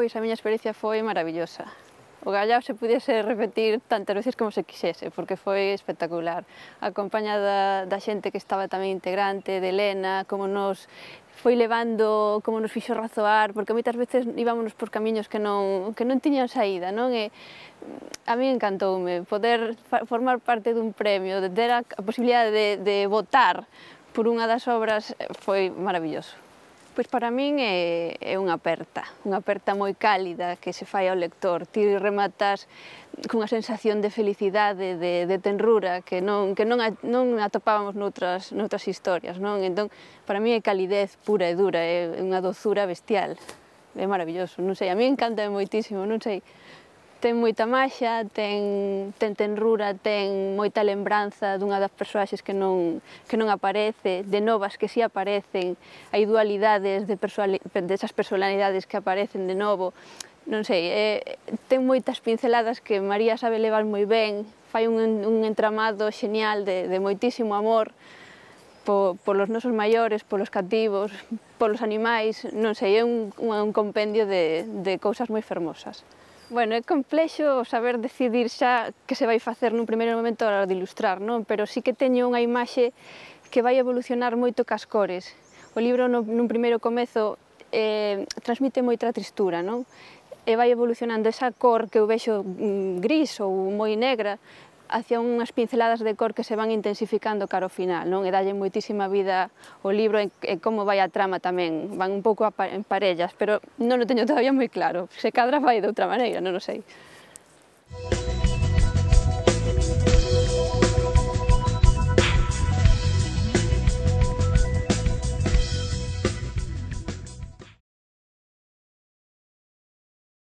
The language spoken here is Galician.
Pois a miña experiencia foi maravillosa. Ogallá se pudiese repetir tantas veces como se quixese, porque foi espectacular. Acompañada da xente que estaba tamén integrante, de Elena, como nos foi levando, como nos fixo razoar, porque moitas veces íbamos por camiños que non tiñan saída, non? E a mí encantoume poder formar parte dun premio, de ter a posibilidade de votar por unha das obras, foi maravilloso. Pois para min é unha aperta moi cálida que se fai ao lector. Ti rematas cunha sensación de felicidade, de tenrura, que non atopábamos noutras historias, non? Entón, para min é calidez pura e dura, é unha dozura bestial. É maravilloso, non sei, a mí encanta moitísimo, non sei. Ten moita maxia, ten tenrura, ten moita lembranza dunha das persoaxes que non aparece, de novas que si aparecen, hai dualidades desas personalidades que aparecen de novo, non sei, ten moitas pinceladas que María sabe levar moi ben, fai un entramado xenial de moitísimo amor polos nosos maiores, polos cativos, polos animais, non sei, é un compendio de cousas moi fermosas. Bueno, é complexo saber decidir xa que se vai facer nun primeiro momento a hora de ilustrar, non? Pero sí que teño unha imaxe que vai evolucionar moito cas cores. O libro nun primeiro comezo transmite moita tristura, non? E vai evolucionando esa cor que eu vexo gris ou moi negra hacia unhas pinceladas de cor que se van intensificando cara ao final, non? E dalle moitísima vida ao libro e como vai a trama tamén, van un pouco en parellas, pero non o teño todavía moi claro, se cadra vai de outra maneira, non o sei.